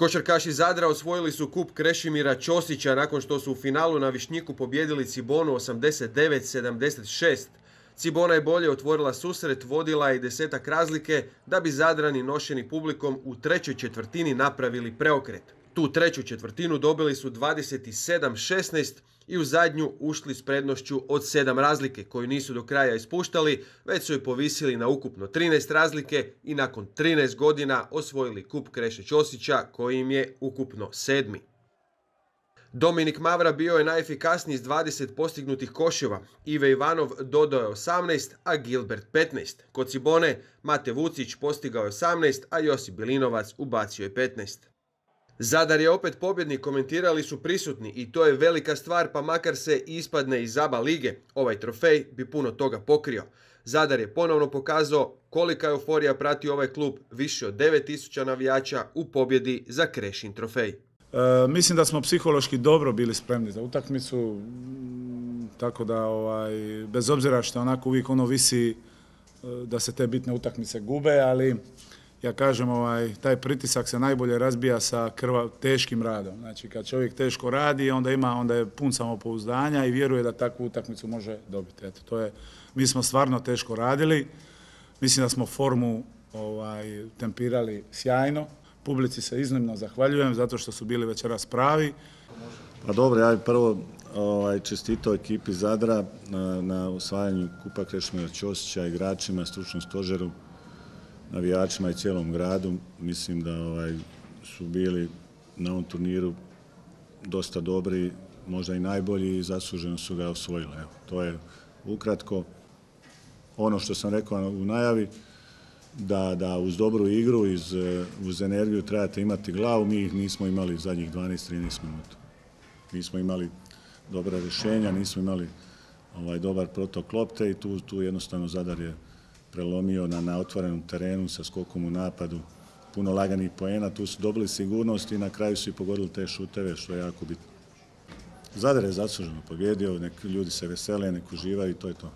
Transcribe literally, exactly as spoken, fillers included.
Košarkaši Zadra osvojili su kup Krešimira Ćosića nakon što su u finalu na Višnjiku pobijedili Cibonu osamdeset devet sedamdeset šest. Cibona je bolje otvorila susret, vodila je i desetak razlike da bi Zadrani nošeni publikom u trećoj četvrtini napravili preokret. Tu treću četvrtinu dobili su dvadeset sedam šesnaest i u zadnju ušli s prednošću od sedam razlike koju nisu do kraja ispuštali, već su je povisili na ukupno trinaest razlike i nakon trinaest godina osvojili kup Kreše Ćosića koji im je ukupno sedmi. Dominik Mavra bio je najefikasniji s dvadeset postignutih koševa, Ive Ivanov dodao je osamnaest, a Gilbert petnaest. Kod Cibone Mate Vucić postigao je osamnaest, a Josip Bilinovac ubacio je petnaest. Zadar je opet pobjednik, komentirali su prisutni i to je velika stvar pa makar se ispadne iz A B A lige. Ovaj trofej bi puno toga pokrio. Zadar je ponovno pokazao kolika euforija prati ovaj klub, više od devet tisuća navijača u pobjedi za Krešin trofej. E, mislim da smo psihološki dobro bili spremni za utakmicu, tako da ovaj, bez obzira što onako uvijek ono visi da se te bitne utakmice gube, ali ja kažem, ovaj, taj pritisak se najbolje razbija sa krva, teškim radom. Znači, kad čovjek teško radi, onda ima, onda je pun samopouzdanja i vjeruje da takvu utakmicu može dobiti. Eto, to je, mi smo stvarno teško radili. Mislim da smo formu ovaj, tempirali sjajno. Publici se iznimno zahvaljujem zato što su bili večeras pravi. Pa dobro, ja bih prvo ovaj, čestitao ekipi Zadra na, na osvajanju kupa Krešimira Ćosića, igračima, stručnom stožeru, navijačima i cijelom gradu. Mislim da ovaj, su bili na ovom turniru dosta dobri, možda i najbolji i zasluženo su ga osvojili. Evo, to je ukratko ono što sam rekao u najavi, da, da uz dobru igru, iz, uz energiju trebate imati glavu. Mi ih nismo imali zadnjih dvanaest trinaest minuta. Nismo imali dobra rješenja, nismo imali ovaj, dobar protok lopte i tu, tu jednostavno Zadar je prelomio na, na otvorenom terenu sa skokom u napadu, puno laganih poena, tu su dobili sigurnost i na kraju su i pogodili te šuteve, što je jako bitno. Zadar je zasluženo pobjedio, nek ljudi se vesele, nek uživaju i to je to.